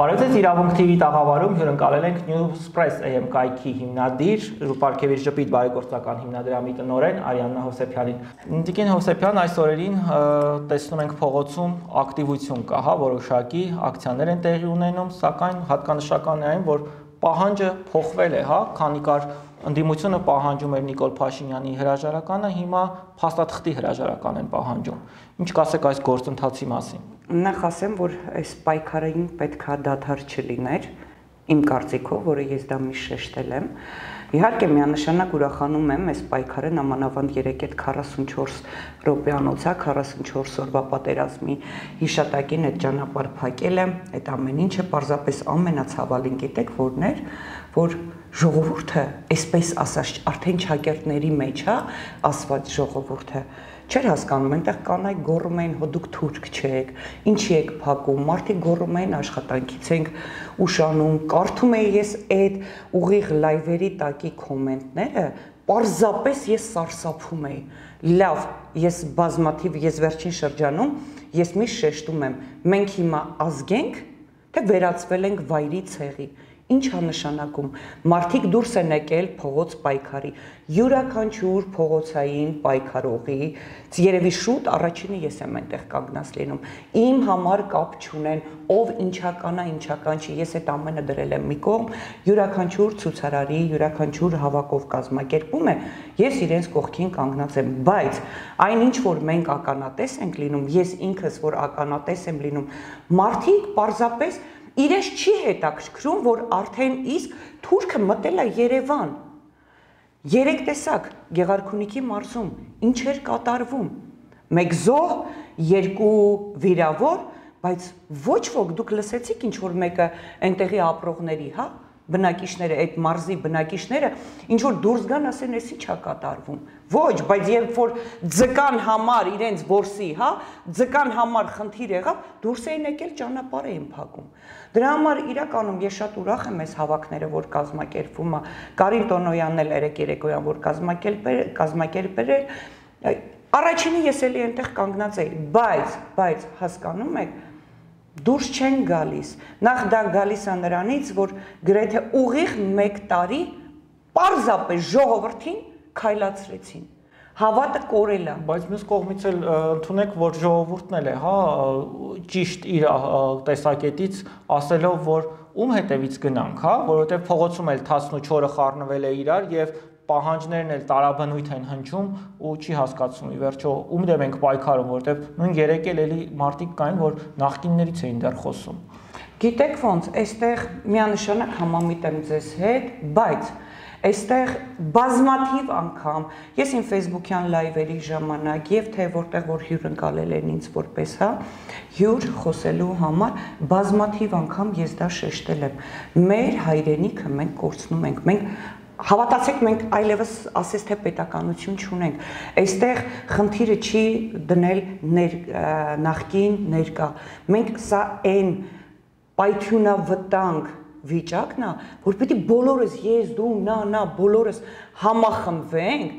Բարև ձեզ, Իրավունք TV տաղավարում հյուրընկալել ենք Newspress AM կայքի հիմնադիր, Պարքևի ժպիտ բարեգործական հիմնադրամի տնօրեն Արիաննա Հովսեփյանին։ Տիկին Հովսեփյան, այս օրերին տեսնում ենք փողոցում ակտիվություն կա, հա, որոշակի ակցիաներ են տեղի ունենում, սակայն հատկանշական է այն, որ պահանջը փոխվել է, հա, քանի կար ընդդիմությունը պահանջում էր Նիկոլ Փաշինյանի հրաժարականը, հիմա փաստաթղթի հրաժարական են պահանջում։ Ինչ կասեք այս գործընթացի մասին։ Նախ ասեմ, որ այս պայքարին պետքա դադար չլիներ, իմ կարծիքով, որը ես դա միշտ շեշտել եմ։ Իհարկե միանշանակ ուրախանում եմ այս պայքարը նամանավանդ 3-44 րոպեանոց է, 44 օրվա պատերազմի հիշատակին այդ ճանապարհ փակելը, այդ ամեն ինչը պարզապես ամենացավալին գիտեք որն էր, որ ժողովուրդը, այսպես ասած, արդեն ճակերտների մեջ է ասված ժողովուրդը չէր հասկանում, այնտեղ կանայք գոռում էին, հո դուք թուրք չեք, ինչի եք փակում, մարդիկ գոռում էին աշխատանքից ենք ուշանում, կարդում էի ես այդ ուղիղ լայվերի տակի կոմենտները, պարզապես ես սարսափում էի։ Լավ, ես վերջին շրջանում ես միշտ շեշտում եմ, մենք հիմա ազգենք, թե վերածվել ենք վայրի ցեղի։ Ինչ է նշանակում, մարդիկ դուրս են եկել փողոց պայքարի, յուրաքանչյուր փողոցային պայքարողի, երևի շուտ առաջինը ես եմ այնտեղ կանգնած լինում, իմ համար կապ չունեն, ով ինչական է, ինչական չի, ես այդ ամենը դրել եմ մի կողմ, յուրաքանչյուր ցուցարարի, յուրաքանչյուր հավաքով կազմակերպում է, ես իրենց կողքին կանգնած եմ, բայց այն ինչ որ մենք ականատես ենք լինում, ես ինքս որ ականատես եմ լինում, մարդիկ պարզապես իրենց չի հետաքրքրում, որ արդեն իսկ թուրքը մտել է Երևան։ Երեք տեսակ Գեղարքունիքի մարզում ինչ էր կատարվում։ Մեկ զոհ, երկու վիրավոր, բայց ոչ ոք դուք լսեցիք ինչ որ մեկը այնտեղի ապրողների, հա, բնակիչները, այդ մարզի բնակիչները ինչ որ դուրս գան ասեն, էս ի՞նչ է կատարվում։ Ոչ, բայց երբ որ ձկան համար իրենց որսի, հա, ձկան համար խնդիր եղավ, դուրս էին եկել ճանապարհ էին փակում։ Դրա համար իրականում ես շատ ուրախ եմ այս հավաքները, որ կազմակերպվում է, Կարին Տոնոյանն էլ երեկոյան որ կազմակերպել էր, առաջինը ես էլի այնտեղ կանգնած էի, բայց հասկանում եք, դուրս չեն գալիս, նախ դա գալիս է նրանից, որ գրեթե ուղիղ 1 տարի պարզապես ժողովրդին քայլացրեցին, հավատը կորել է։ Բայց մյուս կողմից էլ ընդունեք, որ ժողովուրդն էլ է, հա, ճիշտ իր տեսակետից ասելով, որ ում հետևից գնանք, հա, որովհետև փողոցում էլ 14-ը խառնվել է իրար եւ պահանջներն էլ տարաբնույթ են հնչում ու չի հասկացում ի վերջո ում դեմ ենք պայքարում, որովհետև նույն երեք էլ էլի մարդիկ կային, որ նախկիններից էին դեռ խոսում։ Գիտեք ոնց, այստեղ միանշանակ համամիտ եմ ձեզ հետ, բայց այստեղ բազմաթիվ անգամ ես իմ Facebook-յան լայվերի ժամանակ եւ թե որտեղ որ հյուրընկալել են ինձ որպես, հա, հյուր խոսելու համար բազմաթիվ անգամ ես դա շեշտել եմ։ Մեր հայրենիքը մենք կորցնում ենք, մենք Հավատացեք, մենք այլևս ասես թե պետականություն չունենք, այստեղ խնդիրը չի դնել նախկին ներկա, մենք սա այն պայթյունավտանգ վիճակն է, որ պետք է բոլորս, ես, դու, նա, բոլորս համախմբվենք,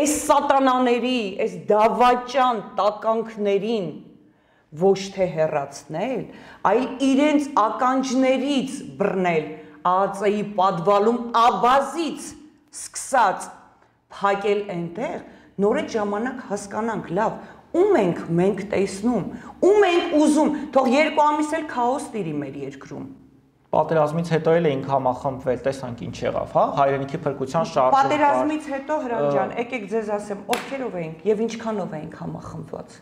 այս սատանաների, այս դավաճան տականքներին ոչ թե հեռացնել, այլ իրենց ականջներից բռնել, ԱԱԾ-ի պատվալում աբազից սկսած փակել այնտեղ, նոր այդ ժամանակ հասկանանք, լավ, ում ենք մենք տեսնում, ում ենք ուզում, թող 2 ամիս էլ քաոս տիրի մեր երկրում։ Պատերազմից հետո էլ էինք համախմբվել, տեսանք ինչ եղավ, հա, հայրենիքի փրկության շարժում։ Պատերազմից հետո Հրանտ ջան, եկեք ձեզ ասեմ, ովքերով էինք եւ ինչքանով էինք համախմբված։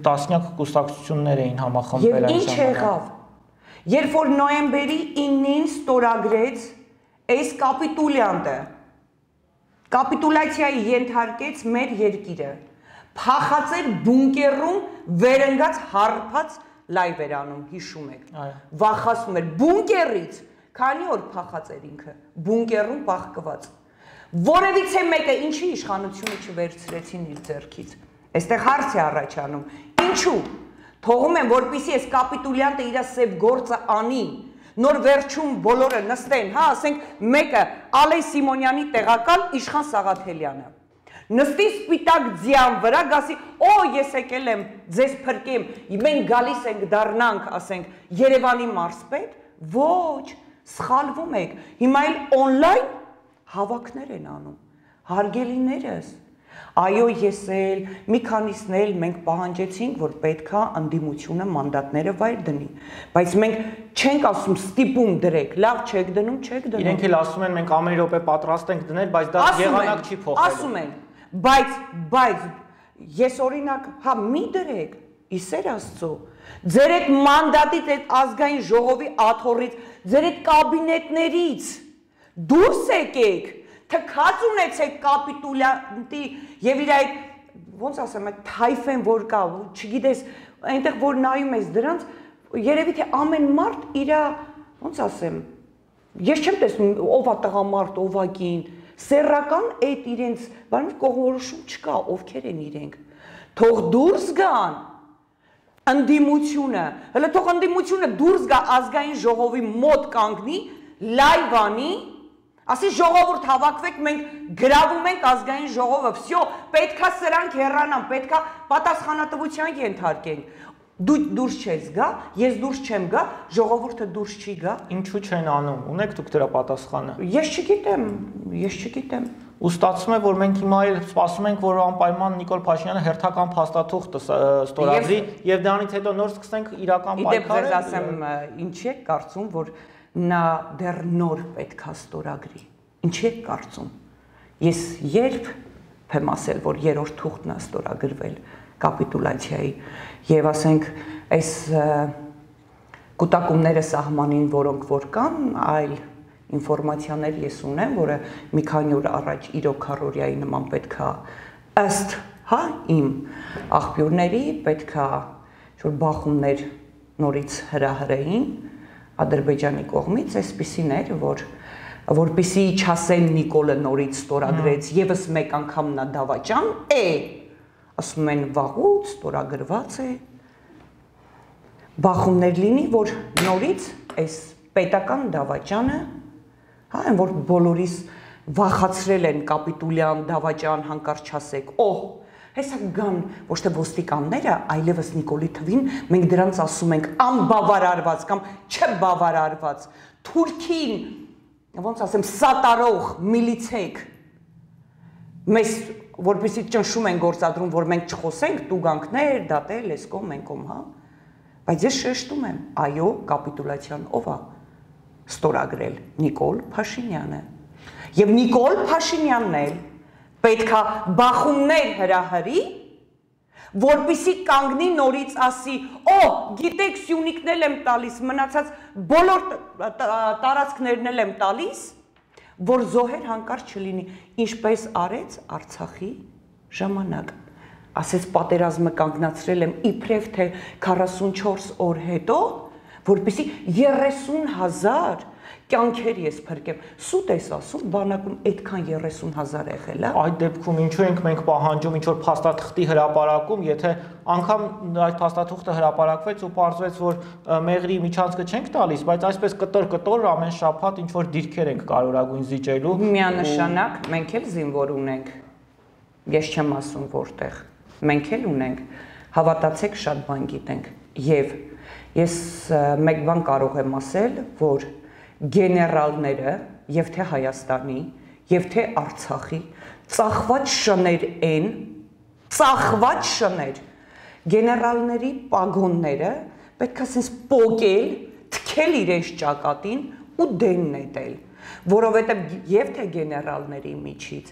Տասնյակ կուսակցություններ էին համախմբվել այն ժամանակ։ Եվ ինչ եղավ։ Երբ որ նոյեմբերի 9-ին ստորագրեց այս կապիտուլյանտը, կապիտուլյացիայի ենթարկեց մեր երկիրը, փախած էր բունկերում վերընկած հարբած լայվ էր անում, հիշում եք, վախացնում էր բունկերից, քանի օր փախած էր ինքը, բունկերում պահկված, որևիցե մեկը ինչի իշխանությունը չվերցրեցին իր ձեռքից, այստեղ հարց է առաջանում, ինչու, թողում եմ, որպեսզի այս կապիտուլյանտը իր սև գործը անի, նոր վերջում բոլորը նստեն, հա, ասենք մեկը Ալեյ Սիմոնյանի տեղակալ Իշխան Սաղաթելյանը, նստի սպիտակ ձյան վրա, գասի, օ, ես եկել եմ, ձեզ փրկեմ, մենք գալիս ենք դառնանք, ասենք, Երևանի մարզպետ, Ոչ, սխալվում եք։ Հիմա էլ on-line հավաքներ են անում։ Հարգելիներս, այո, ես էլ մի քանիսն էլ մենք պահանջեցինք, որ պետքա անդիմությունը մանդատները վայր դնի, բայց մենք չենք ասում ստիպում դրեք, լավ չեք դնում, չեք դնում։ Իրենք էլ ասում են մենք ամեն րոպե պատրաստ ենք դնել, բայց դա եղանակ չի փոխելու։ Ասում են, բայց ես օրինակ, հա մի դրեք, իսեր Աստծո, ձեր այդ մանդատից, այդ ազգային ժողովի աթոռից, ձեր այդ կաբինետներից դուրս եկեք, թքած ունեցեք կապիտուլյանտի եւ իր այդ ոնց ասեմ, այդ թայֆեն որ կա, չգիտես, այնտեղ որ նայում ես դրանց, երևի թե ամեն մարդ իր, ոնց ասեմ, ես չեմ տեսնում ով է տղամարդ, ով է կին, սեռական այդ իրենց, բան կողմնորոշում չկա, ովքեր են իրենք, թող դուրս գան ընդդիմությունը, հələ թող ընդդիմությունը դուրս գա ազգային ժողովի մոտ կանգնի, լայվ անի, ասի ժողովուրդ հավաքվեք, մենք գրավում ենք ազգային ժողովը, վсё, պետքա սրանք հեռանան, պետքա պատասխանատվության ենթարկենք։ Դու դուրս չես գա, ես դուրս չեմ գա, ժողովուրդը դուրս չի գա։ Ինչու չեն անում։ Ունեք դուք դրա պատասխանը։ Ես չգիտեմ։ Ու ստացվում է, որ մենք հիմա էլ սպասում ենք, որ անպայման Նիկոլ Փաշինյանը հերթական փաստաթուղթ ստորագրի եւ դրանից հետո նոր սկսենք իրական պայքարը։ Իդեպ ասեմ, ինչի եք կարծում, որ նա դեռ նոր պետքա ստորագրի։ Ինչի եք կարծում։ Ես երբ եմ ասել, որ երրորդ թուղթն է ստորագրվել կապիտուլյացիայի եւ ասենք այս կուտակումները սահմանին, որոնք որ կան, այլ ինֆորմացիաներ ես ունեմ, որը մի քանի օր առաջ իրոք քարորիայի նման պետքա ըստ, հա, իմ աղբյուրների պետքա որ բախումներ նորից հրահրեին Ադրբեջանի կողմից, այսպիսին էր, որպեսի չասեն Նիկոլը նորից ստորագրեց, եւս մեկ անգամ նա դավաճան է, ասում են վաղուց ստորագրված է, բախումներ լինի, որ նորից այս պետական դավաճանը, հա, այն որ բոլորիս վախացրել են կապիտուլյան դավաճան հանկարծ չասեք, հեսա գան ոչ թե ոստիկանները, այլևս Նիկոլի թվին մենք դրանց ասում ենք անբավարարված կամ չբավարարված, Թուրքին, ոնց ասեմ, սատարող միլիցեք, մեզ որպեսի ճնշում են գործադրում, որ մենք չխոսենք, տուգանքներ, դատել, լեսկոմ, մենկոմ, հա, բայց ես շեշտում եմ, այո, կապիտուլյացիան ով է ստորագրել Նիկոլ Փաշինյանը, եւ Նիկոլ Փաշինյանն էլ պետքա բախումներ հրահրի, որպեսի կանգնի նորից ասի, գիտեք Սյունիքն եմ տալիս, մնացած բոլոր տարածքներն եմ տալիս, որ զոհեր հանկարծ չլինի, ինչպես արեց Արցախի ժամանակ, ասեց պատերազմը կանգնացրել եմ իբրև թե 44 օր հետո, որպեսի 30,000 կյանքեր ես փրկեմ, սուտ ես ասում, բանակում այդքան 30,000 եղել է։ Այդ դեպքում ինչու ենք մենք պահանջում ինչ-որ փաստաթղթի հրապարակում, եթե անգամ այդ փաստաթուղթը հրապարակվեց ու պարզվեց, որ մեղրի միջանցքը չենք տալիս, բայց այսպես կտոր ամեն շաբաթ ինչ-որ դիրքեր ենք կարողագույն զիջելու։ Միանշանակ մենք էլ զինվոր ունենք, ես չեմ ասում որտեղ, մենք էլ ունենք, հավատացեք շատ բան գիտենք, եւ ես մեկ բան կարող եմ ասել, որ գեներալները եւ թե Հայաստանի եւ թե Արցախի ծախված շներ են, ծախված շներ, գեներալների պագոնները պետք է ասես պոկել, թքել իրենց ճակատին ու դեն նետել, որովհետեւ եւ թե գեներալների միջից,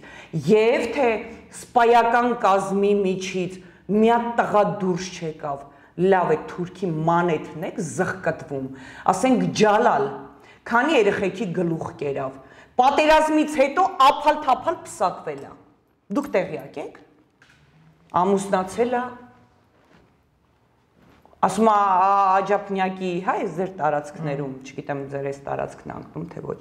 եւ թե սպայական կազմի միջից մի հատ տղա դուրս չեկավ, լավ է Թուրքի մանեթն եք զղկտվում, ասենք Ջալալ քանի երեխեքի գլուխ կերավ, պատերազմից հետո ափալ-թափալ փսակվել է, դուք տեղյակ եք, ամուսնացել է, ասում է Աջափնյակի, հա, ես ձեր տարածքներում, չգիտեմ ձեր այս տարածքն անկնում, թե ոչ,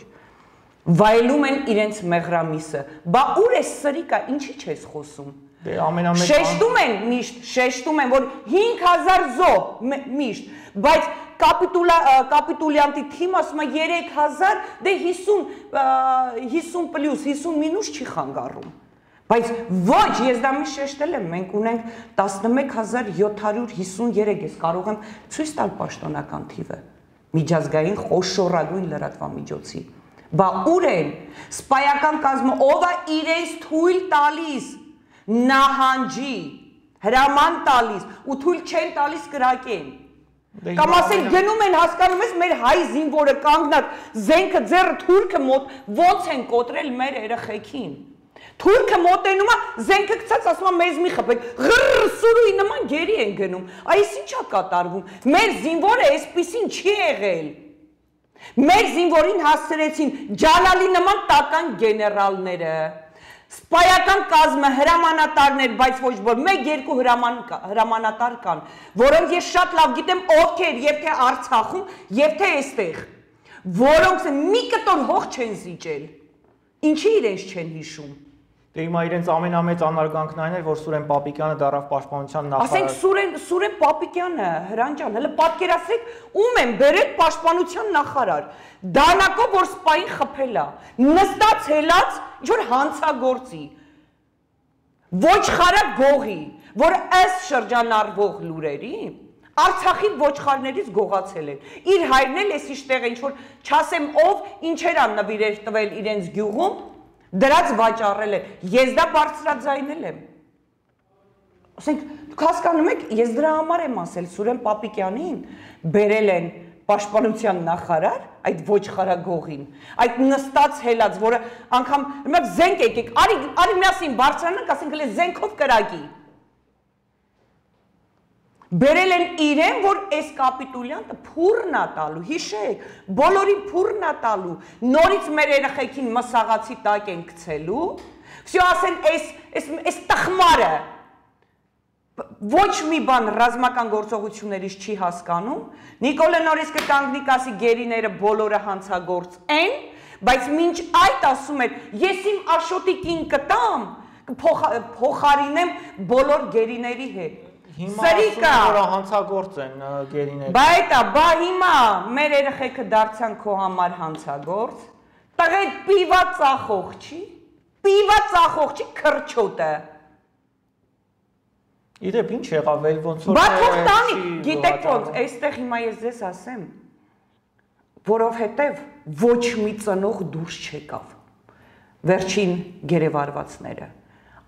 վայելում են իրենց մեղրամիսը, բա ուր է սրիկա, ինչի չես խոսում, շեշտում են, որ 5,000 զոհ միշտ, բայց կապիտուլյանտի թիմ ասում է 3,000, դե 50 պլյուս, 50 մինուս չի խանգարում, բայց ոչ, ես դա մի շեշտել եմ, մենք ունենք 11,753, ես կարող եմ ցույց տալ պաշտոնական թիվը, միջազգային խոշորագույն լրատվամիջոցի։ Բա ուր են սպայական կազմը, ով է իրենց թույլ տալիս նահանջի, հրաման տալիս ու թույլ չեն տալիս կրակեն։ Կամ ասեն գնում են, հասկանում ես, մեր հայ զինվորը կանգնած զենքը ձեռը թուրքը մոտ ոնց են կոտրել մեր երեխեքին։ Թուրքը մոտենում է, զենքը գցած ասում է մեզ մի խփեք, ղրր սուրուի նման գերի են գնում։ Այս ի՞նչ է կատարվում։ Մեր զինվորը այսպեսին չի եղել։ Մեր զինվորին հասցրեցին Ջալալի նման տական գեներալները, սպայական կազմը, հրամանատարներ, բայց ոչ որ մեկ-երկու հրամանատար կան, որոնք ես շատ լավ գիտեմ ովքեր եւ թե Արցախում, եւ թե այստեղ, որոնք մի կտոր հող չեն զիջել։ Ինչի իրենց չեն հիշում։ Դե հիմա իրենց ամենամեծ անարգանքն այն էր, որ Սուրեն Պապիկյանը դարավ պաշտպանության նախարար։ Ասենք Սուրեն Պապիկյանը, Հրանտ ջան, հələ պատկերացրեք, ում են բերել պաշտպանության նախարար։ Դանակով որ սպային խփել է, նստած հելած ինչ որ հանցագործի։ Ոչխարը գողի, որ ըստ շրջանառվող լուրերի Արցախի ոչխարներից գողացել են։ Իր հայրն էլ էս իշտեղ ինչ որ չասեմ ով ինչեր ան նվիրեր տվել իրենց գյուղում, դրած վաճառել է։ Ես դա բարձրաձայնել եմ։ Ասենք դուք հասկանում եք, ես դրա համար եմ ասել Սուրեն Պապիկյանին բերել են պաշտպանության նախարար, այդ ոչխարագողին, այդ նստած հելած, որը անգամ հիմա զենք եկեք, արի միասին բարձրանանք, ասենք հələ զենքով կրակի։ Բերել են իրեն, որ այս կապիտուլյանտը փուրն է տալու, հիշեք, բոլորին փուրն է տալու, նորից մեր երեխեքին մսաղացի տակ են գցելու, всё ասեն այս տխմարը ոչ մի բան ռազմական գործողություններից չի հասկանում, Նիկոլը նորից կկանգնի կասի գերիները բոլորը հանցագործ են, բայց մինչ այդ ասում էր, ես իմ Աշոտիկին կտամ, փոխարինեմ բոլոր գերիների հետ։ Հիմա որ հանցագործ են գերիները։ Բա հիմա մեր երեխեքը դարձան քո համար հանցագործ, տղեկ պիվա ծախող չի, քրչոտը։ Իդեպ ինչ եղավ, էլ ոնց որ Բա թող տանի, գիտեք ոնց, այստեղ հիմա ես ձեզ ասեմ, որովհետև ոչ մի ծնող դուրս չեկավ։ Վերջին գերեվարվածները։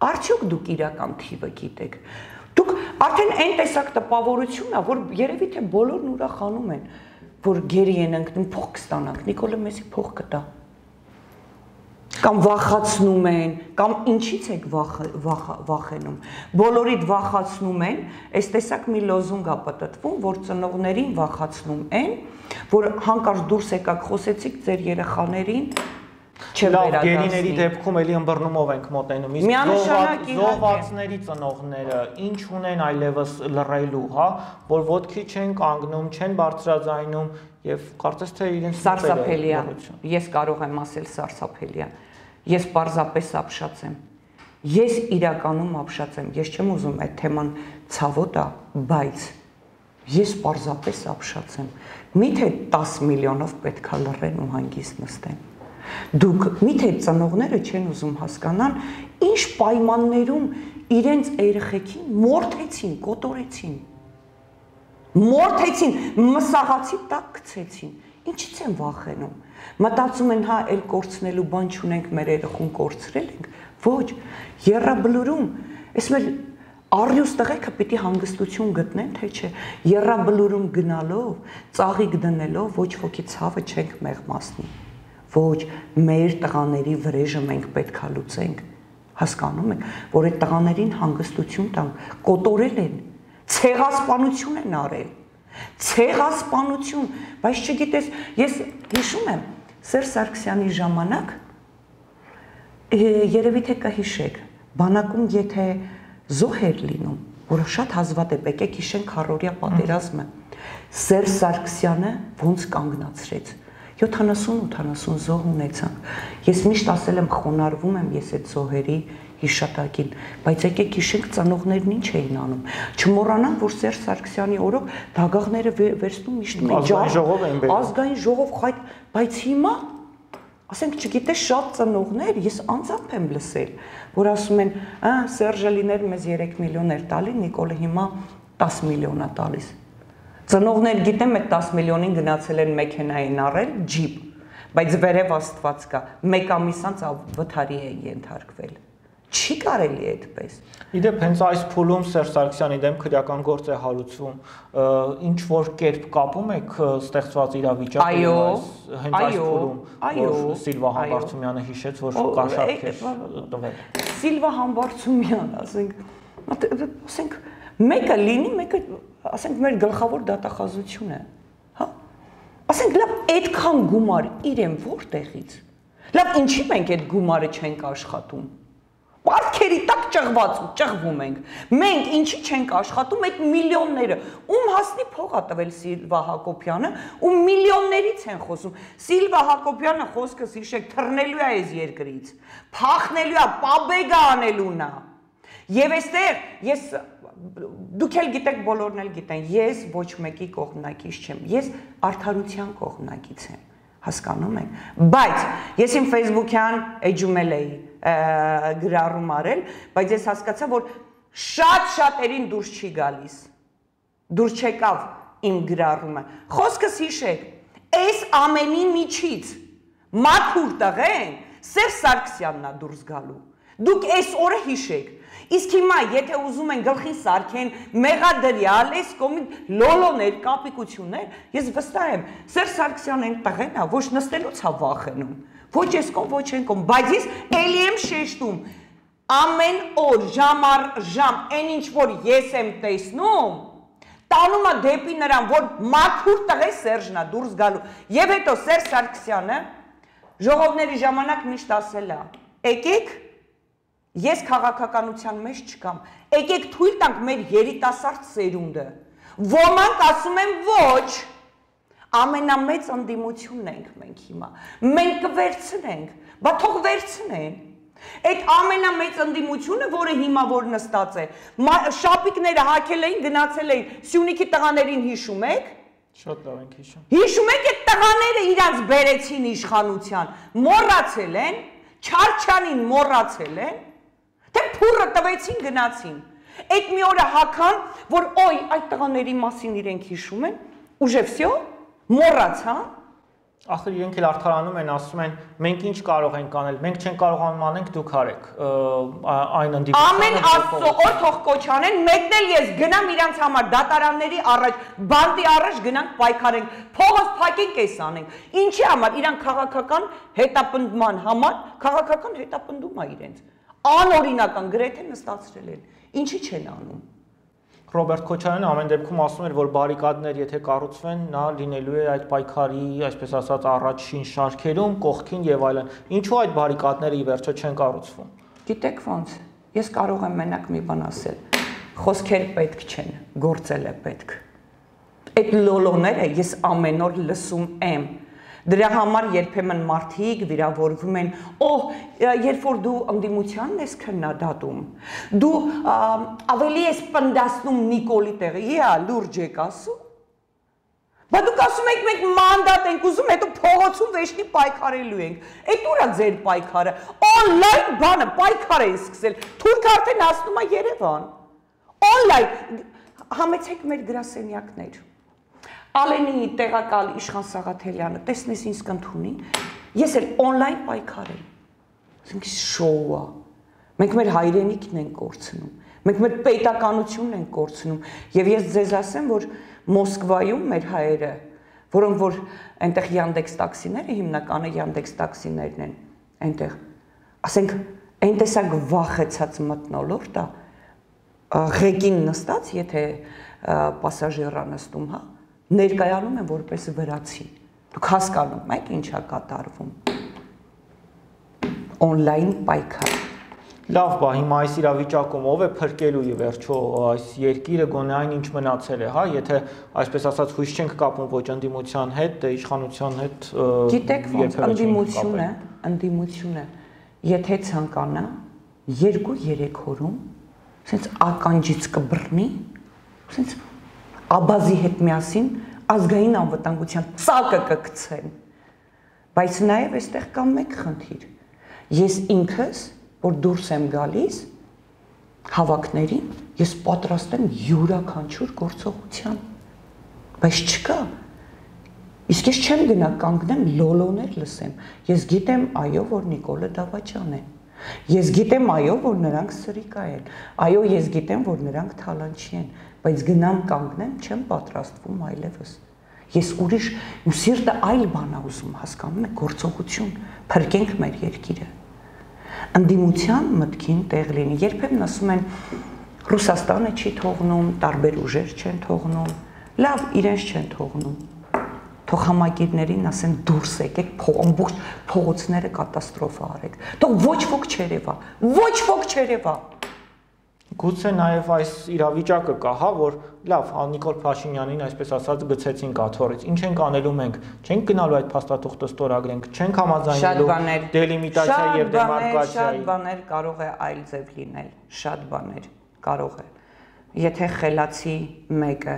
Արդյոք դուք իրական թիվը գիտեք։ Դուք արդեն այն տեսակ տպավորություն է, որ երևի թե բոլորն ուրախանում են, որ գերի են ընկնում, փող կստանանք, Նիկոլը մեզի փող կտա։ Կամ վախացնում են, կամ ինչից եք վախենում։ Բոլորիդ վախացնում են, այս տեսակ մի լոզունգ է պտտվում, որ ծնողներին վախացնում են, որ հանկարծ դուրս եկաք խոսեցիք ձեր երեխաներին Լավ, գերիների դեպքում էլի ըմբռնումով ենք մոտենում, իսկ զոհվածների ծնողները ինչ ունեն այլևս լռելու, հա, որ ոտքի չեն կանգնում, չեն բարձրաձայնում եւ կարծես թե իրենց սարսափելի է։ Ես կարող եմ ասել սարսափելի է։ Ես պարզապես ապշած եմ։ Ես իրականում ապշած եմ։ Ես չեմ ուզում այդ թեման ցավոտ է, բայց ես պարզապես ապշած եմ։ Միթե 10 միլիոնով պետքա լռեն ու հանգիստ նստեն։ Դուք միթե ծնողները չեն ուզում հասկանան, ինչ պայմաններում իրենց երեխեքին մորթեցին, կոտորեցին, մսաղացի տակ գցեցին, ինչից են վախենում, մտածում են հա էլ կորցնելու բան չունենք, մեր երեխուն կորցրել ենք, ոչ, եռաբլուրում, ես մեր առյուս տղեկը պիտի հանգստություն գտնեն, թե չէ, եռաբլուրում գնալով, ծաղիկ դնելով, ոչ ոքի ցավը չենք մեղմացնի։ Ոչ, մեր տղաների վրեժը մենք պետքա լուծենք, հասկանում եք, որ այդ տղաներին հանգստություն տանք, կոտորել են, ցեղասպանություն են արել, ցեղասպանություն, բայց չգիտես, ես հիշում եմ, Սերժ Սարգսյանի ժամանակ, երևի թե կհիշեք, բանակում եթե զոհ էր լինում, որը շատ հազվադեպ եկեք հիշենք քառորյա պատերազմը, Սերժ Սարգսյանը ոնց կանգնացրեց 70-80 զոհ ունեցանք։ Ես միշտ ասել եմ, խոնարհվում եմ ես այդ զոհերի հիշատակին, բայց եկեք հիշենք ծնողներն ինչ էին անում։ Չմոռանանք, որ Սերժ Սարգսյանի օրոք դագաղները վերցնում միշտ ազգային ժողով, բայց հիմա, ասենք, չգիտես, շատ ծնողներ, ես անձամբ եմ լսել, որ ասում են, Սերժը լիներ մեզ 3 միլիոն էր տալի, Նիկոլը հիմա 10 միլիոն է տալիս։ Ծնողներ գիտեմ այդ 10 միլիոնին գնացել են մեքենային առել, ջիպ, բայց վերև Աստված կա, 1 ամիս անց վթարի է ենթարկվել։ Չի կարելի այդպես։ Իդեպ հենց այս փուլում Սերժ Սարգսյանի դեմ քրեական գործ է հարուցվում, ինչ որ կերպ կապում եք ստեղծված իրավիճակը հենց այս փուլում, որ Սիլվա Համբարձումյանը հիշեց, որ կաշառք էր տվել։ Սիլվա Համբարձումյան, ասենք, մեկը լինի, մեկը, ասենք, մեր գլխավոր դատախազություն է, հա։ Ասենք, լավ, այդքան գումար իրեն որտեղից։ Լավ, ինչի մենք այդ գումարը չենք աշխատում։ Պարտքերի տակ ճղվում ենք։ Մենք ինչի չենք աշխատում այդ միլիոնները։ Ում հասնի փող է տվել Սիլվա Հակոբյանը, ու միլիոններից են խոսում։ Սիլվա Հակոբյանը խոսքս հիշեք, թռնելու է այս երկրից, փախնելու է, պաբեգա անելուն է։ Եվ այստեղ ես դուք էլ գիտեք, բոլորն էլ գիտեն, ես ոչ մեկի կողմնակից չեմ, ես արդարության կողմնակից եմ, հասկանում եք, բայց ես իմ Facebook-յան էջում էլ էի գրառում արել, բայց ես հասկացա, որ շատ-շատերին դուրս չի գալիս, դուրս չեկավ իմ գրառումը, խոսքս հիշեք, այս ամենի միջից մաքուր տղեն Սերժ Սարգսյանն է դուրս գալու, դուք այս օրը հիշեք, իսկ հիմա եթե ուզում են գլխին սարքեն մեղադրյալ, այս կողմից լոլոներ, կապիկություններ, ես վստահ եմ, Սերժ Սարգսյանն այն տղեն է, ոչ նստելուց է վախենում, ոչ այս կողմ, ոչ այն կողմ, բայց ես էլի եմ շեշտում, ամեն օր, ժամ առ ժամ, այն ինչ որ ես եմ տեսնում, տանում է դեպի նրան, որ մաքուր տղե Սերժն է դուրս գալու, եւ հետո Սերժ Սարգսյանը ժողովների ժամանակ միշտ ասել է, եկեք ես քաղաքականության մեջ չկամ, եկեք թույլ տանք մեր երիտասարդ սերունդը, ոմանք ասում են ոչ, ամենամեծ ընդդիմությունն ենք մենք հիմա, մենք կվերցնենք, բա թող վերցնեն, այդ ամենամեծ ընդդիմությունը, որը հիմա որ նստած է, շապիկները հակել էին, գնացել էին, Սյունիքի տղաներին հիշում եք, շատ լավ ենք հիշում, հիշում եք այդ տղաները իրանց բերեցին իշխանության, մոռացել են, Չարչյանին մոռացել են, թե փուրը տվեցին գնացին, այդ մի օրը հական, որ ոյ այդ տղաների մասին իրենք հիշում են, ուժե վսյո, մոռացան, ախր իրենք էլ արդարանում են, ասում են, մենք ինչ կարող ենք անել, մենք չենք կարողանում անենք, դուք արեք, այն ընդդիմությունը ամեն Աստծո օր թող կոչանեն, մեկն էլ ես գնամ իրանց համար դատարանների առաջ, բանտի առաջ գնանք պայքարենք, փողոց փակենք էս անենք, ինչի համար, իրանք քաղաքական հետապնդման համար, քաղաքական հետապնդում է իրենց, անօրինական գրեթե նստացրել են, ինչի չեն անում։ Ռոբերտ Քոչարյանը ամեն դեպքում ասում էր, որ բարիկադներ եթե կառուցվեն, նա լինելու է այդ պայքարի, այսպես ասած, առաջին շարքերում, կողքին եւ այլն։ Ինչու այդ բարիկադները ի վերջո չեն կառուցվում։ Գիտեք ոնց, ես կարող եմ մենակ մի բան ասել, խոսքեր պետք չեն, գործել է պետք։ Այդ լոլոները ես ամեն օր լսում եմ։ Դրա համար երբեմն մարդիկ վիրավորվում են, երբ որ դու ընդդիմությանն ես քննադատում, դու ավելի ես պնդասնում Նիկոլի տեղը, լուրջ եք ասում, բա դուք ասում եք մենք մանդատ ենք ուզում, հետո փողոցում վեշնի պայքարելու ենք, այդ ուր է ձեր պայքարը, օնլայն բանը պայքար են սկսել, թուրք արդեն հասնում է Երևան, օնլայն, համեցեք մեր գրասենյակներ, Ալենի տեղակալ Իշխան Սաղաթելյանը, տեսնես ինձ կընդունի, ես էլ օնլայն պայքար եմ, ասենք շոու է, մենք մեր հայրենիքն ենք կորցնում, մենք մեր պետականությունն ենք կորցնում, և ես ձեզ ասեմ, որ Մոսկվայում մեր հայերը, որոնք որ այնտեղ Յանդեքս տաքսիները, հիմնականը Յանդեքս տաքսիներն են, այնտեղ, ասենք, այն տեսակ վախեցած մթնոլորտ է, ղեկին նստած, եթե պասաժիրա նստում, հա, ներկայանում են որպես վրացի, դուք հասկանում եք ինչ է կատարվում, օնլայն պայքար։ Լավ բա, հիմա այս իրավիճակում ով է փրկելու ի վերջո այս երկիրը գոնե այն ինչ մնացել է, հա, եթե այսպես ասած հույս չենք կապում ոչ ընդդիմության հետ, դե իշխանության հետ գիտեք ոնց ընդդիմությունը, եթե ցանկանա 2-3 օրում, սենց ականջից կբռնի, սենց Աբազի հետ միասին ազգային անվտանգության ծակը կգցեն, բայց նաև այստեղ կա մեկ խնդիր, ես ինքս, որ դուրս եմ գալիս հավաքներին, ես պատրաստ եմ յուրաքանչյուր գործողության, բայց չկա։ Իսկ ես չեմ գնա կանգնեմ լոլոներ լսեմ։ Ես գիտեմ այո, որ Նիկոլը դավաճան է։ Ես գիտեմ այո, որ նրանք սրիկա են։ Այո, ես գիտեմ, որ նրանք թալանչի են, բայց գնամ կանգնեմ, չեմ պատրաստվում այլևս։ Ես ուրիշ ու սիրտը այլ բան ա ուզում, հասկանում եք, գործողություն, փրկենք մեր երկիրը։ Ընդդիմության մտքին տեղ լինի։ Երբեմն ասում են Ռուսաստանը չի թողնում, տարբեր ուժեր չեն թողնում։ Լավ, իրենց չեն թողնում։ Թող համագիրներին ասեն դուրս եկեք, ամբողջ փողոցները կատաստրոֆա արեք։ Թող ոչ ոք չերևա, ոչ ոք չերևա։ Գուցե նաև այս իրավիճակը կա, հա, որ լավ, Նիկոլ Փաշինյանին, այսպես ասած, գցեցին կաթոռից։ Ինչ ենք անելու մենք։ Չենք գնալու այդ փաստաթուղթը ստորագրենք, չենք համաձայնելու դելիմիտացիա եւ դեմարկացիայի։ Շատ բաներ կարող է այլ ձև լինել, շատ բաներ կարող է։ Եթե խելացի մեկը,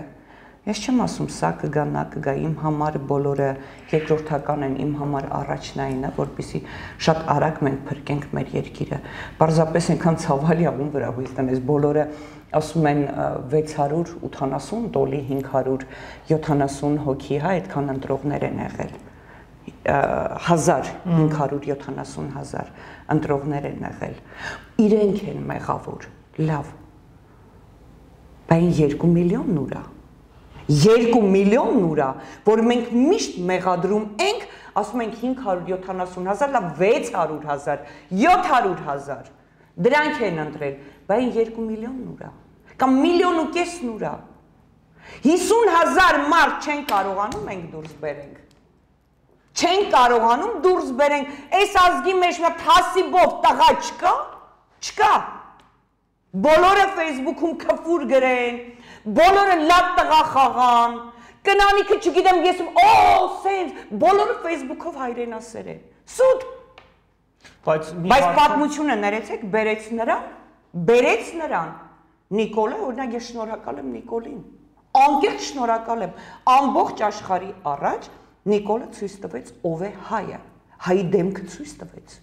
ես չեմ ասում սա կգա, նա կգա, իմ համար բոլորը երկրորդական են, իմ համար առաջնայինը, որպեսզի շատ արագ մենք փրկենք մեր երկիրը։ Պարզապես այնքան ցավալի աղում վրա հույս տնես, բոլորը ասում են 680 տոլի 570 հոգի, հա, այդքան ընտրողներ են եղել։ 570,000 ընտրողներ են եղել։ Իրենք են մեղավոր, լավ։ Բայց 2 միլիոնն ուրա։ 2 միլիոնն ուրա, որ մենք միշտ մեղադրում ենք, ասում ենք 570,000, լավ 600,000, 700,000, դրանք են ընտրել, բայց 2 միլիոնն ուրա, կամ 1,5 միլիոն ուրա, 50,000 մարդ չեն կարողանում մենք դուրս բերենք, չեն կարողանում դուրս բերենք, այս ազգի մեջ թասիբով տղա չկա, բոլորը Facebook-ում քֆուր գրեն, բոլորը լավ տղա խաղան, կնանիքը չգիտեմ ես սենց, բոլորը Facebook-ով հայրենասեր են, սուտ, բայց պատմությունը ներեցեք, բերեց նրան, Նիկոլը, օրինակ ես շնորհակալ եմ Նիկոլին, անկեղծ շնորհակալ եմ, ամբողջ աշխարհի առաջ Նիկոլը ցույց տվեց ով է հայը, հայի դեմքը ցույց տվեց։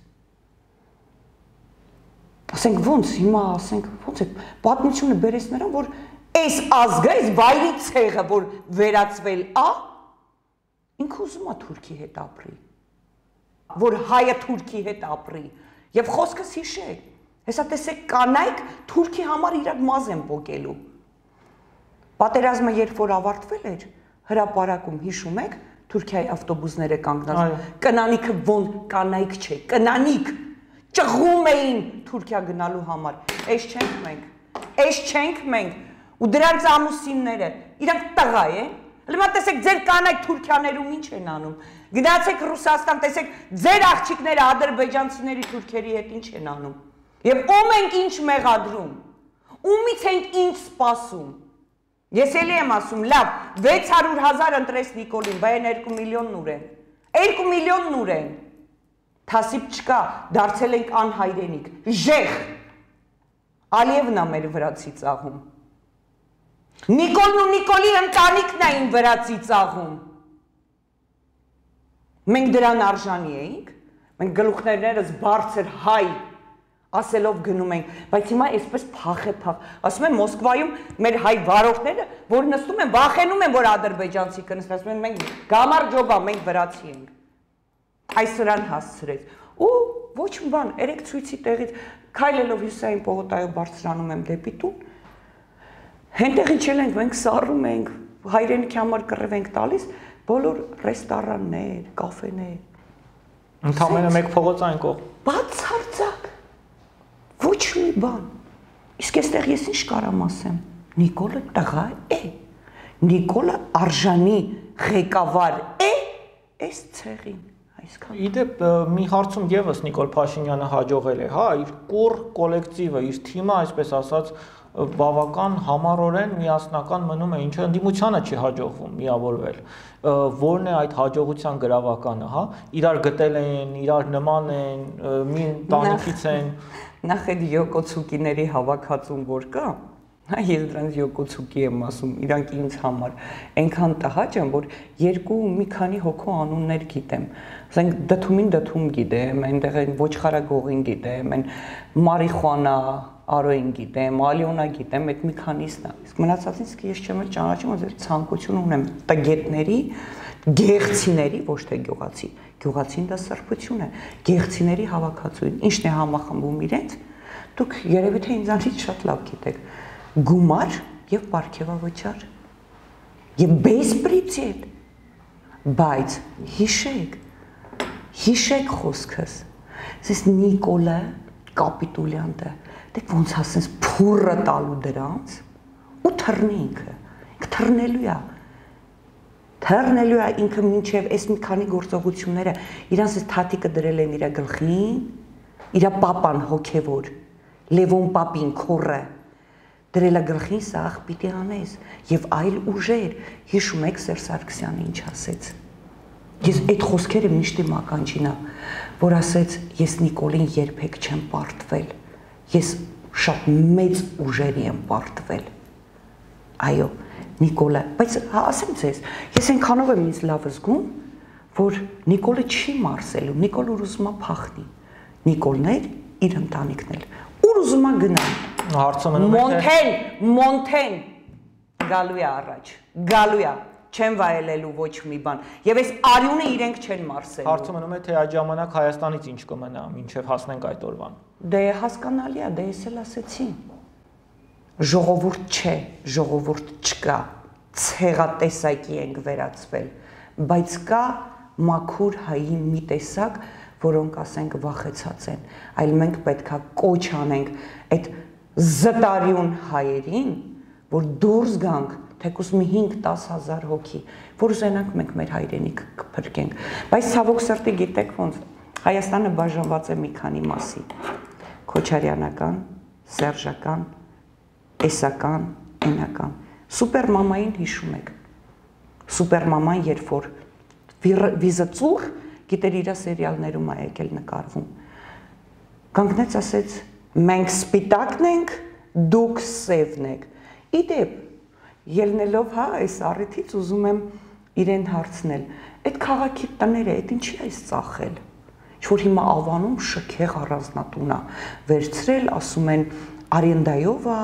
Ասենք ոնց, հիմա ասենք ոնց է, պատմությունը բերեց նրան, որ այս ազգը, այս վայրի ցեղը, որ վերածվել ա, ինքը ուզում է Թուրքի հետ ապրի, որ հայը Թուրքի հետ ապրի, եւ խոսքս հիշեք, հեսա տեսեք կանայք Թուրքի համար իրար մազ են պոկելու։ Պատերազմը երբ որ ավարտվել էր, հրապարակում հիշում եք, Թուրքիայի ավտոբուսները կանգնած, կնանիքը ոնց կանայք չէ, կնանիք ճղում էին Թուրքիա գնալու համար, այս չենք մենք, ու դրանց ամուսինները, իրանք տղա են, լմա տեսեք ձեր կանայք Թուրքիաներում ինչ են անում, գնացեք Ռուսաստան, տեսեք ձեր աղջիկները ադրբեջանցիների թուրքերի հետ ինչ են անում, և ում ենք ինչ մեղադրում, ումից ենք ինչ սպասում, ես էլի եմ ասում, լավ, 600,000 ընտրես Նիկոլին, բայեն 2 միլիոնն ուր են, 2 միլիոնն ուր են, թասիբ չկա, դարձել ենք անհայրենիք, ժեղ, Ալիևն է մեր վրացի ծաղում, Նիկոլն ու Նիկոլի ընտանիքն էին վրացի ծաղում, մենք դրան արժանի էինք, մենք գլուխներներս բարձր հայ, ասելով գնում ենք, բայց հիմա այսպես փախ, ասում են Մոսկվայում մեր հայ վարորդները, որ նստում են, վախենում են, որ ադրբեջանցի կնստեն, ասում են մենք գամարջոբա, մենք վրացի ենք, այս սրան հասցրեց, ու ոչ բան, երեք ցույցի տեղից քայլելով Հյուսիսային պողոտայով բարձրանում եմ դեպի տուն, հենտեղ իջել ենք, մենք սառում ենք, հայրենիքի համար կռիվ ենք տալիս, բոլոր ռեստորաններ, կաֆեներ, ընդամենը մեկ փողոցային կողմ, բացարձակ, ոչ մի բան, իսկ այստեղ ես ինչ կարամ ասեմ, Նիկոլը տղա է, Նիկոլը արժանի ղեկավար է, այս ցեղին, այսքան։ Իդեպ մի հարցում եւս Նիկոլ Փաշինյանը հաջողել է, հա, իր կուռ կոլեկտիվը, իր թիմը, այսպես ասած, բավական համառորեն միասնական մնում է, ինչը ընդդիմությանը չի հաջողվում միավորվել, որն է այդ հաջողության գրավականը, հա, իրար գտել են, իրար նման են, մի տանիքից են։ Նախ այդ Յոկոցուկիների հավաքածուն որ կա, ես դրանց Յոկոցուկի եմ ասում, իրանք ինձ համար այնքան տհաճ են, որ մի քանի հոգու անուններ գիտեմ, ասենք դդումին դդում գիտեմ, այնտեղ են ոչխարագողին գիտեմ, այն մարիխուանա Արոյին գիտեմ, Ալիոնա գիտեմ, այդ մի քանիսն է։ Իսկ մնացածին իսկ ես չեմ էլ ճանաչում, որ ցանկություն ունեմ տգետների, գեղցիների, ոչ թե գյուղացի։ Գյուղացին դա սրբություն է։ Գեղցիների հավաքածուին։ Ինչն է համախմբում իրենց։ Դուք երևի թե ինձանից շատ լավ գիտեք։ Գումար եւ պարգևավճար։ Եվ բեսպրիցիետ։ Բայց հիշեք խոսքս։ Ես Նիկոլը կապիտուլյանտը դեք ոնց ասես փուրը տալու դրանց ու թռնի ինքը թռնելու է ինքը մինչև այս մի քանի գործողությունները իրանց այս թաթիկը դրել են իր գլխին իր պապան հոգևոր Լևոն պապին քորը դրել է գլխին սաղ պիտի անես եւ այլ ուժեր հիշում եք Սերժ Սարգսյանը ինչ ասեց ես այդ խոսքերը միշտ իմ ականջին է որ ասեց ես Նիկոլին երբեք չեմ պարտվել ես շատ մեծ ուժերի եմ պարտվել այո Նիկոլը բայց ասեմ ձեզ ես այնքանով եմ ինձ լավ զգում որ Նիկոլը չի մարսելու Նիկոլը ուզում է փախնի Նիկոլներ իր ընտանիքն էլ ուր ուզում է գնալ հարցը մնում է Մոնթեն գալու է առաջ գալու է չեն վայելելու ոչ մի բան եւ այս արյունը իրենք չեն մարսելու հարցը մնում է թե այդ ժամանակ Հայաստանից ինչ կմնա մինչեւ հասնենք այդ օրվան դե հասկանալի է դե ես էլ ասեցի ժողովուրդ չէ ժողովուրդ չկա ցեղատեսակի ենք վերածվել բայց կա մաքուր հայի մի տեսակ որոնք ասենք վախեցած են այլ մենք պետքա կոչ անենք այդ զտարյուն հայերին որ դուրս գանք թեկուզ մի 5-10 հազար հոգի, որ ուզենանք մենք մեր հայրենիք կփրկենք, բայց ցավոք սրտի գիտեք ոնց Հայաստանը բաժանված է մի քանի մասի, Քոչարյանական, Սերժական, Էսական, Էնական, Սուպերմամային հիշում եք, Սուպերմաման երբ որ վիզը ծուռ, գիտեր իրա սերիալներում է եկել նկարվում, կանգնեց ասեց, մենք սպիտակն ենք, դուք սևն եք, իդեպ Ելնելով հա այս առիթից ուզում եմ իրեն հարցնել այդ քաղաքի տները այդ ինչի է ծախել ինչ-որ հիմա Ավանում շքեղ առանձնատուն է վերցրել ասում են արենդայով է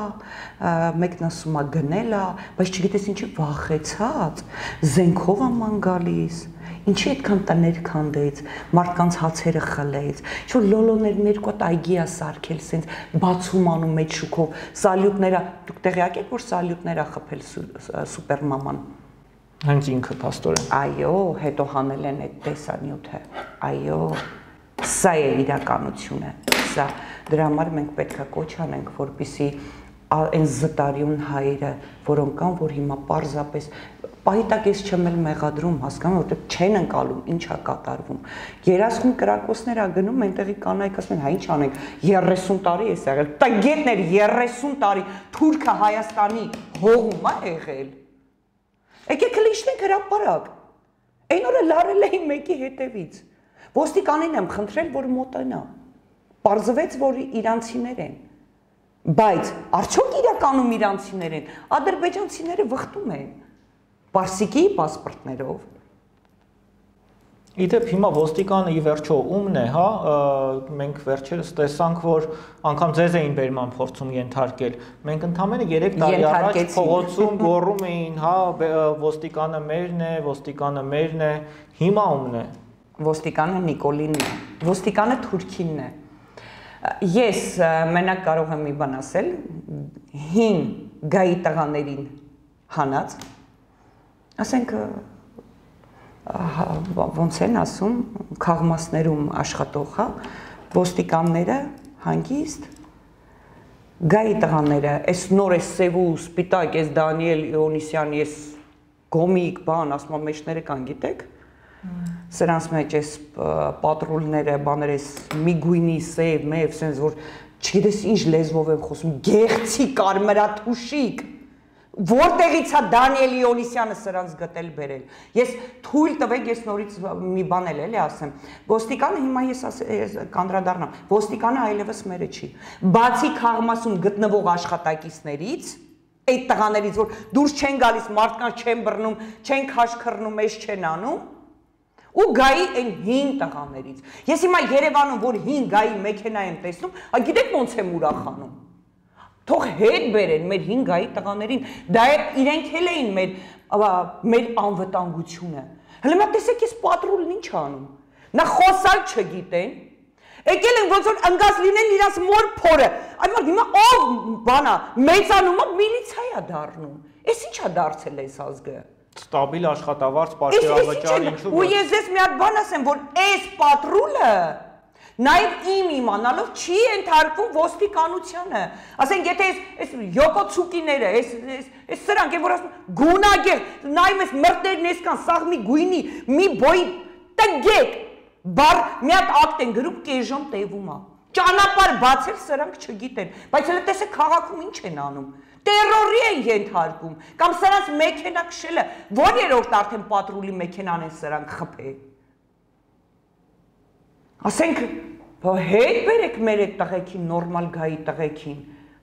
մեկն ասում է գնել է բայց չգիտես ինչի վախեցած զենքով է ման գալիս ինչի այդքան տներ քանդեց մարդկանց հացերը խլեց ինչ-որ լոլոներ երկու հատ այգի է սարքել սենց բացում անում մեջ շուքով սալյուտները դուք տեղյակ եք որ սալյուտներ է խփել սուպերմաման հենց ինքը փաստորեն այո հետո հանել են այդ տեսանյութը այո սա է իրականությունը սա դրա համար մենք պետքա կոչ անենք որպեսզի այն զտարյուն հայերը որոնք կան որ հիմա պարզապես պահիտակ ես չեմ էլ մեղադրում հասկանում որտեղ չեն ընկալում ինչա կատարվում 30 կրակոցներ ա գնում այնտեղի կանայք ասում են հա ինչ անենք 30 տարի էս եղել տգետներ 30 տարի թուրքը Հայաստանի հողում ա եղել եկեք լիշնենք հրապարակ այն օրը լարել էին մեկի հետևից ոստիկանին եմ խնդրել որ մոտենա պարզվեց որ իրանցիներ են բայց արդյոք իրականում իրանցիներ են ադրբեջանցիները վխտում են Պարսիկի պասպորտներով Իդեպ հիմա ոստիկանը ի վերջո ումն է, հա, մենք վերջերս տեսանք, որ անգամ ձեզ էին բերման փորձում ենթարկել։ Մենք ընդամենը 3 տարի առաջ փողոցում գոռում էին, հա, ոստիկանը մերն է, հիմա ումն է։ Ոստիկանը Նիկոլինն է, ոստիկանը Թուրքինն է։ Ես մենակ կարող եմ մի բան ասել, հին գայի տղաներին հանած, ասենք ոնց են ասում, քաղմասներում աշխատող, հա, ոստիկանները հանգիստ, գայի տղաները, այս նոր այս սև ու սպիտակ, այս Դանիել Իոնիսյան, այս գոմիկ բան, ասում մեջները կան, գիտեք, սրանց մեջ այս պատրոլները, բաներ այս մի գույնի սև, մեև, սենց որ չգիտես ինչ լեզվով եմ խոսում, գեղցի կարմրաթուշիկ, որտեղից է Դանիել Իոնիսյանը սրանց գտել բերել։ Ես թույլ տվեք, ես նորից մի բան էլի ասեմ։ Ոստիկանը հիմա ես կանդրադառնամ, ոստիկանը այլևս մերը չի։ Բացի քաղմասում գտնվող աշխատակիցներից, այդ տղաներից, որ դուրս չեն գալիս, մարդկանց չեն բռնում, չեն քաշքռնում, էս չեն անում, ու գայի այն հին տղաներից։ Ես հիմա Երևանում, որ հին գայի մեքենա եմ տեսնում, գիտեք ոնց եմ ուրախանում։ Թող հետ բերեն մեր 5-այի տղաներին, դա իրենք էլ էին մեր անվտանգությունը։ Հələ մա տեսեք ես պատրուլն ինչ անում։ Նա խոսալ չգիտեն։ Եկել են ոնց որ ընկած լինեն իրաց մոր փորը։ Այդ մարդ հիմա ով բանա մեծանում է միլիցիա է դառնում։ Էս ի՞նչ է դարձել այս ազգը։ Ստաբիլ աշխատավարձ, պարտեզավճար, ինչու՞։ Ու ես ձեզ մի հատ բան ասեմ, որ այս պատրուլը նաև իմ իմանալով չի ենթարկվում ոստիկանությանը։ Ասենք եթե այս յոկոցուկիները, այս սրանք են որ ասում գունագեղ, նայում ես մրտերն էսքան սաղ մի գույնի, մի բոյի տգեք, բար մի հատ ակտ են գրում կես ժամ տևում է։ Ճանապարհ բացել սրանք չգիտեն, բայց հələ տեսեք քաղաքում ինչ են անում։ Տերորի են ենթարկում, կամ սրանց մեքենա քշելը, որ երրորդ արդեն պատրուլի մեքենան են սրանք խփել։ Ասենք հետ բերեք մեր այդ տղեկին, նորմալ գայի տղեկին,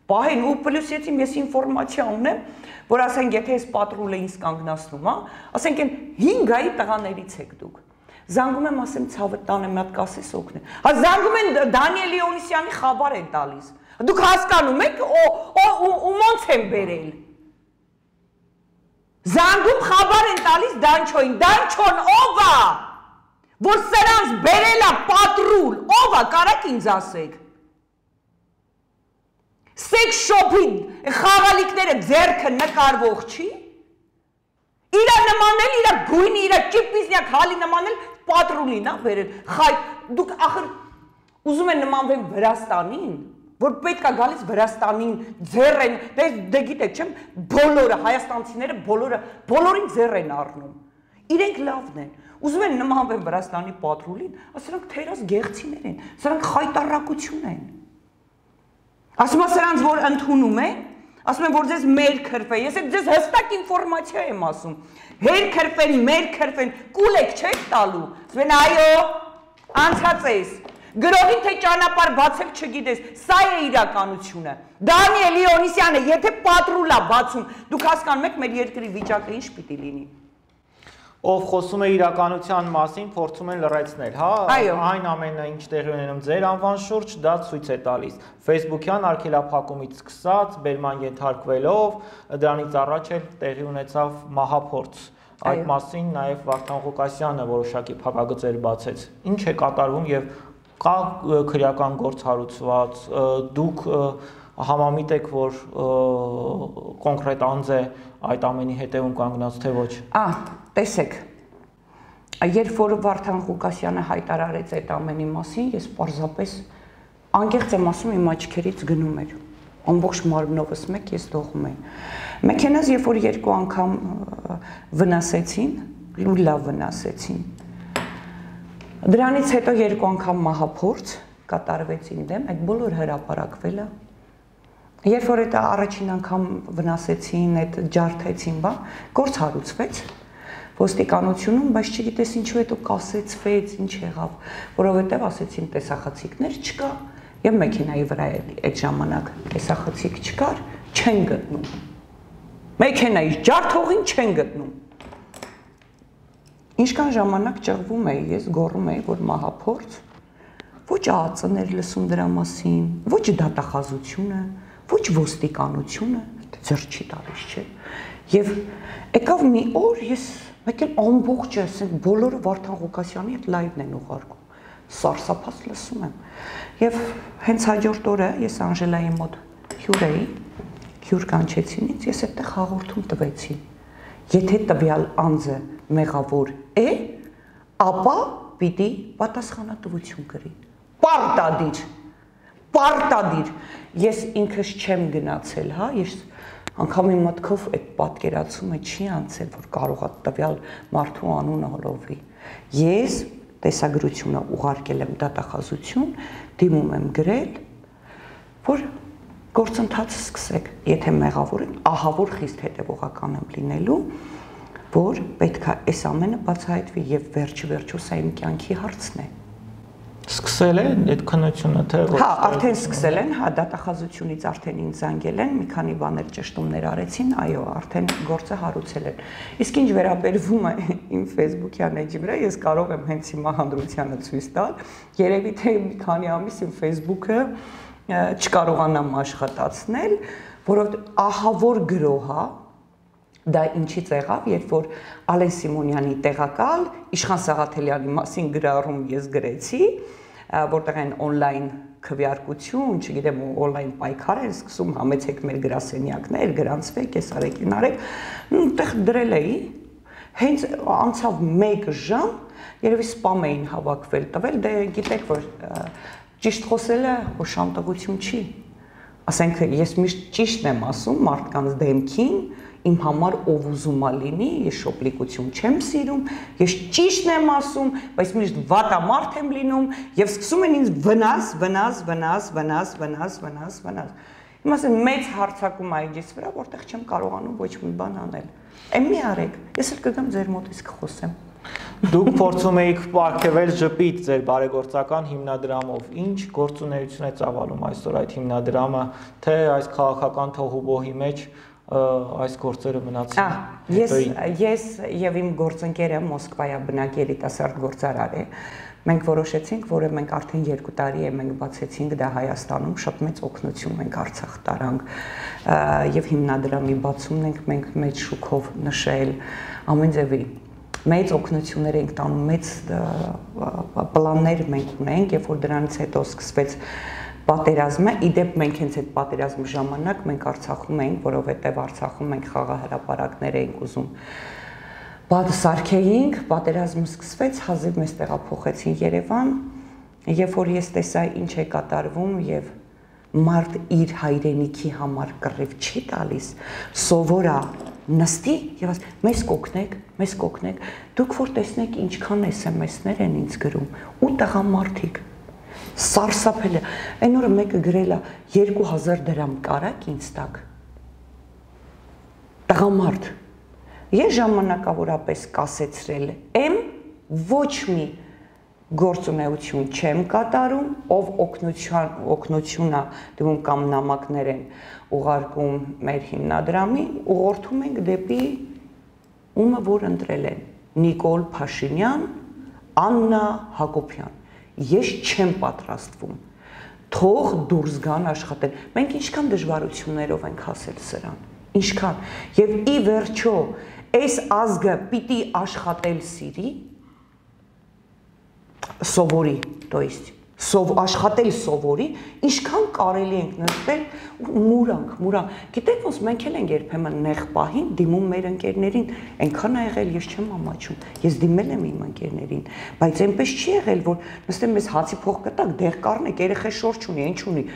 պահեն ու պլյուս ես ինֆորմացիա ունեմ, որ ասենք եթե այս պատրուլը ինձ կանգնացնում, ասենք այն 5 գայի տղաներից եք դուք։ Զանգում եմ, ասեմ ցավը տանեմ, մի հատ կասես օգնե։ Հա զանգում են Դանիել Լեոնիսյանի խաբար են տալիս։ Դուք հասկանում եք ու ոնց են բերել։ Զանգում խաբար են տալիս Դանչոին, Դանչոն ով է, որ սրանց բերել է պատրուլ, ով է, կարաք ինձ ասեք։ Սեքս շոփի խաղալիքները ձեռքը նկարվող չի։ Իրա նմանել, իրա գույնի, իրա ճիպիզնյակ հալի նմանել պատրուլին է բերել։ Խայ, դուք ախր ուզում են նմանվեն Վրաստանին, որ պետք է գալիս Վրաստանին ձեռ են, դե գիտեք չեմ, բոլորը, հայաստանցիները բոլորին ձեռ են առնում։ Իրենք լավն են, ուզում են նմանվեն Վրաստանի պատրուլին, սրանք թերաս գեղցիներ են, սրանք խայտարակություն են։ Ասում է սրանց, որ ընդունում են, ասում են, որ ձեզ մեր քրվե, ես ձեզ հստակ ինֆորմացիա եմ ասում, հեր քրվեն, մեր քրվեն, կուլեք չեք տալու, ասում են այո, անցած ես, գրողին թե ճանապարհ բացել չգիտես, սա է իրականությունը, Դանիել Լեոնիսյանը, եթե պատրուլ է բացում, դուք հասկանում եք մեր երկրի վիճակը ինչ պիտի լինի։ Ով խոսում է իրականության մասին, փորձում են լրացնել, հա, այն ամենը ինչ տեղի ունենում ձեր անվան շուրջ, դա ցույց է տալիս։ Facebook-յան արգելափակումից սկսած, բերման ենթարկվելով, դրանից առաջ էլ տեղի ունեցավ մահափորձ։ Այդ մասին նաև Վարդան Ղուկասյանը որոշակի փակագծեր բացեց։ Ինչ է կատարվում եւ կա քրեական գործ հարուցված, դուք համամիտ եք, որ կոնկրետ անձ է այդ ամենի հետևում կանգնած, թե ոչ։ Տեսեք, երբ որ Վարդան Ղուկասյանը հայտարարեց այդ ամենի մասին, ես պարզապես անկեղծ եմ ասում, իմ աչքերից գնում էր, ամբողջ մարմնովս մեկ ես դողում էի։ Մեքենաս երբ որ 2 անգամ վնասեցին, ու լավ վնասեցին։ Դրանից հետո 2 անգամ մահափորձ կատարվեց իմ դեմ, այդ բոլոր հրապարակվել է։ Երբ որ այդ առաջին անգամ վնասեցին, այդ ջարդեցին, գործ հարուցվեց ոստիկանությունում, բայց չգիտես ինչու հետո կասեցվեց, ինչ եղավ, որովհետև ասեցին տեսախցիկներ չկա, եւ մեքենայի վրա այդ ժամանակ տեսախցիկ չկար, չեն գտնում։ Մեքենայի ջարդողին չեն գտնում։ Ինչքան ժամանակ ճղվում էի, ես գոռում էի, որ մահափորձ, ոչ ԱԱԾ-ներ լսում դրա մասին, ոչ դատախազությունը, ոչ ոստիկանությունը, ձեռ չի տալիս, չէ։ Եվ եկավ մի օր ես մեկ էլ ամբողջը, ասենք բոլորը Վարդան Ղուկասյանի հետ լայվն են ուղարկում, սարսափած լսում եմ։ Եվ հենց հաջորդ օրը ես Անժելայի մոտ հյուր էի, հյուր կանչեցինից, ես այդտեղ հաղորդում տվեցի։ Եթե տվյալ անձը մեղավոր է, ապա պիտի պատասխանատվություն կրի։ Պարտադիր։ Ես ինքս չեմ գնացել, հա, ես անգամ իմ մտքով այդ պատկերացումը չի անցել, որ կարող է տվյալ մարդու անունը հոլովի։ Ես տեսագրությունը ուղարկել եմ դատախազություն, դիմում եմ գրել, որ գործընթացը սկսեք, եթե մեղավոր եք, ահա որ խիստ հետևողական եմ լինելու, որ պետք է այս ամենը բացահայտվի եւ վերջը սա իմ կյանքի հարցն է։ Սկսել են այդ քննությունը, թե ոչ։ Հա, արդեն սկսել են, հա, դատախազությունից արդեն ինձ զանգել են, մի քանի բաներ ճշտումներ արեցին, այո, արդեն գործը հարուցել են։ Իսկ ինչ վերաբերվում է իմ Facebook-յան էջի վրա, ես կարող եմ հենց հիմա հանրությանը ցույց տալ, երևի թե մի քանի ամիս իմ Facebook-ը չկարողանամ աշխատացնել, որովհետև ահավոր գրոհա դա ինչից եղավ, երբ որ Ալեն Սիմոնյանի տեղակալ Իշխան Սաղաթելյանի մասին գրառում ես գրեցի, որտեղ են on-line քվեարկություն, չգիտեմ, on-line պայքար են սկսում, համեցեք մեր գրասենյակներ, գրանցվեք, ես արեք, ինարեք, այնտեղ դրել էի, հենց անցավ 1 ժամ, երևի սպամ էին հավաքվել, տվել, դե գիտեք, որ ճիշտ խոսելը օշանտողություն չի, ասենք ես միշտ ճիշտն եմ ասում մարդկանց դեմքին, իմ համար ով ուզում է լինի, ես շոպլիկություն չեմ սիրում, ես ճիշտն եմ ասում, բայց միշտ վատամարդ եմ լինում եւ սկսում են ինձ վնաս։ Իմ ասեն մեծ հարցակում այգիս վրա, որտեղ չեմ կարողանում ոչ մի բան անել։ Էն մի արեք, ես էլ կգամ ձեր մոտից կխոսեմ։ Դուք փորձում եք պարգևել ժպիտ ձեր բարեգործական հիմնադրամով։ Ինչ գործունեություն է ծավալում այսօր այդ հիմնադրամը, թե այս քաղաքական թողուբոհի մեջ այս գործերը մնացին։ Ես եւ իմ գործընկերը Մոսկվայա բնակ երիտասարդ գործարար է։ Մենք որոշեցինք, որ մենք արդեն 2 տարի է մենք բացեցինք դա Հայաստանում, շատ մեծ օգնություն մենք Արցախ տարանք եւ հիմնադրամի բացումն ենք մենք մեծ շուկով նշել ամեն ձևի մեծ օգնություններ ենք տանում, մեծ պլաններ մենք ունենք, երբ որ դրանից հետո սկսվեց պատերազմը, իդեպ մենք հենց այդ պատերազմի ժամանակ մենք Արցախում էինք, որովհետև Արցախում մենք խաղահրապարակներ էինք ուզում սարքեինք, պատերազմը սկսվեց, հազիվ մեզ տեղափոխեցին Երևան, երբ որ ես տեսա ինչ է կատարվում եւ մարդ իր հայրենիքի համար կռիվ չի տալիս, սովորա նստի եւ ասի մեզ կօգնեք, դուք որ տեսնեք ինչքան SMS-ներ են ինձ գրում, ու տղամարդիկ սարսափել է, այն օրը մեկը գրել է 2000 դրամ կարակ ինձ տակ, տղամարդ, ես ժամանակավորապես կասեցրել եմ, ոչ մի գործունեություն չեմ կատարում, ով օգնություն է դիմում կամ նամակներ են ուղարկում մեր հիմնադրամի, ուղղորդում ենք դեպի ումը որ ընտրել են, Նիկոլ Փաշինյան, Աննա Հակոբյան, ես չեմ պատրաստվում, թող դուրս գան աշխատել, մենք ինչքան դժվարություններով ենք հասել սրան, ինչքան, և ի վերջո, այս ազգը պիտի աշխատել սիրի, սովորի, то есть, աշխատել սովորի, ինչքան կարելի ենք նստել մուրանք, գիտեք ոնց մենք էլ ենք երբեմն նեղ պահին դիմում մեր ընկերներին, այնքան ա եղել ես չեմ ամաչում, ես դիմել եմ իմ ընկերներին, բայց այնպես չի եղել, որ նստեմ մեզ հացի փող կտակ, դեղ կառնեք, երեխա շորջ ունի, ինչ ունի,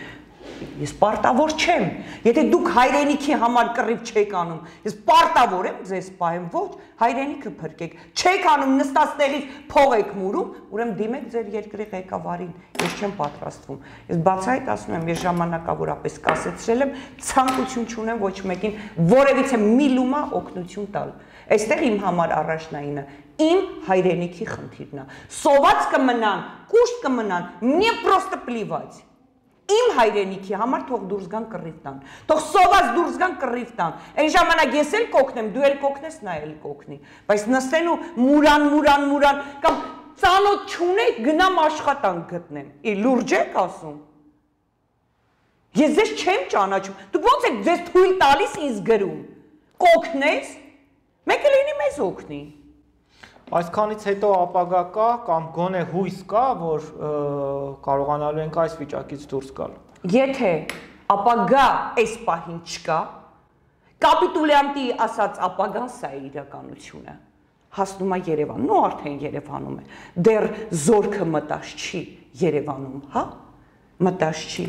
ես պարտավոր չեմ, եթե դուք հայրենիքի համար կռիվ չեք անում, ես պարտավոր եմ ձեզ պահեմ, ոչ, հայրենիքը փրկեք, չեք անում նստած տեղից փող եք մուրում, ուրեմն դիմեք ձեր երկրի ղեկավարին, ես չեմ պատրաստվում, ես բացահայտ ասում եմ, ես ժամանակավորապես կասեցրել եմ, ցանկություն չունեմ ոչ մեկին որևիցե մի լումա օգնություն տալ, այստեղ իմ համար առաջնայինը իմ հայրենիքի խնդիրն է, սոված կմնան, կուշտ կմնան, мне просто плевать. Իմ հայրենիքի համար թող դուրս գան կռիվ տան, թող սոված դուրս գան կռիվ տան, այն ժամանակ ես էլ կօգնեմ, դու էլ կօգնես, նա էլ կօգնի, բայց նստեն ու մուրան, կամ ծանոթ չունեք, գնամ աշխատանք գտնեմ, լուրջ եք ասում, ես ձեզ չեմ ճանաչում, դուք ոնց եք ձեզ թույլ տալիս ինձ գրում, կօգնես, մեկը լինի մեզ օգնի, Այսքանից հետո ապագա կա կամ գոնե հույս կա, որ կարողանալու ենք այս վիճակից դուրս գալ։ Եթե ապագա այս պահին չկա, կապիտուլյանտի ասած ապագան սա է իրականությունը, հասնում է Երևան, ու արդեն Երևանում է, դեռ զորքը մտած չի Երևանում, հա, մտած չի,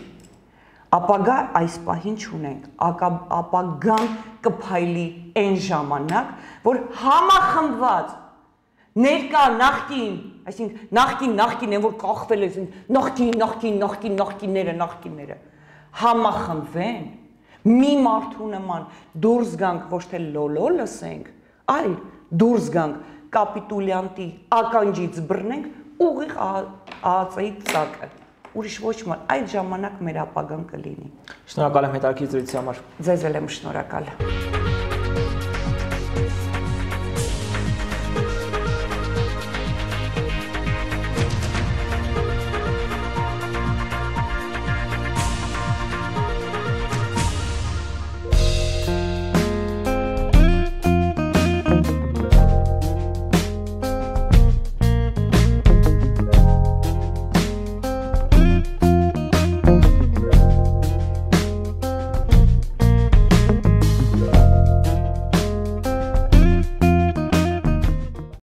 ապագա այս պահին չունենք, ապագան կփայլի այն ժամանակ, որ համախմբված ներկա նախկին, այսինքն նախկին են, որ կախվել է, նախկինները, համախմբվեն, մի մարդու նման դուրս գանք, ոչ թե լոլո լսենք, այլ դուրս գանք կապիտուլյանտի ականջից բռնենք ուղիղ ԱԱԾ-ի ծակը, ուրիշ ոչ ման, այդ ժամանակ մեր ապագան կլինի։ Շնորհակալ եմ հետաքրքիր զրույցի համար։ Ձեզ էլ եմ շնորհակալ։